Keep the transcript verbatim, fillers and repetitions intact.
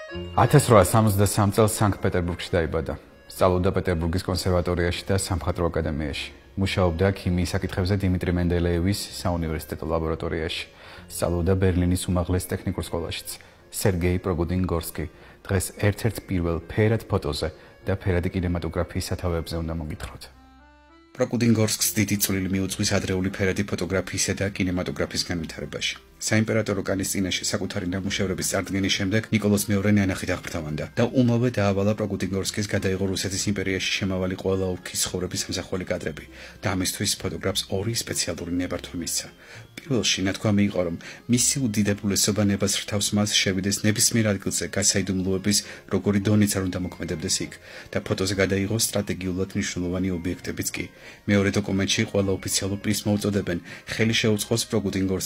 ათას რვაას სამოცდასამ წელს სანქტ-პეტერბურგში დაიბადა. სწავლობდა პეტერბურგის კონსერვატორიაში და სამხატვრო აკადემიაში. მუშაობდა ქიმიის საკითხებზე დიმიტრი მენდელეევის საუნივერსიტეტო ლაბორატორიაში. სწავლობდა ბერლინის უმაღლეს ტექნიკურ სკოლაშიც. სერგეი პროგუდინ-გორსკი დღეს ერთ-ერთ პირველ ფერად ფოტოზე და ფერადი კინემატოგრაფიის სათავეებზე უნდა მოგითხროთ. პროკუდინ-გორსკს დიდი წვლილი მიუძღვის ადრეული ფერადი ფოტოგრაფიისა და კინემატოგრაფიის განვითარებაში. საიმპერატორო კანის წინაშე საკუთარი ნამუშევრების წარდგენის შემდეგ ნიკოლოზ მეორე ნანახით აღფრთოვანდა და უმალვე დაავალა პროკუდინ-გორსკის გადაიღო რუსეთის იმპერიაში შემავალი ყველა ოლქის ცხოვრების სამსახველი კადრები და ამისთვის ფოტოგრაფს ორი სპეციალური ნებართვა მისცა. პირველში ნათქვამი იყო, რომ მისი უდიდებულესობა ნებას რთავს მას შევიდეს ნებისმიერ ადგილზე გასაიდუმლოების როგორი დონეც არ უნდა მოქმედებდეს იქ და ფოტოზე გადაიღოს სტრატეგიულად მნიშვნელოვანი ობიექტებიც კი. მეორე დოკუმენტში ყველა ოფიციალურ პრიზს მოუწოდებენ, ხელი შეუწყოს პროკუდინ-გორსკის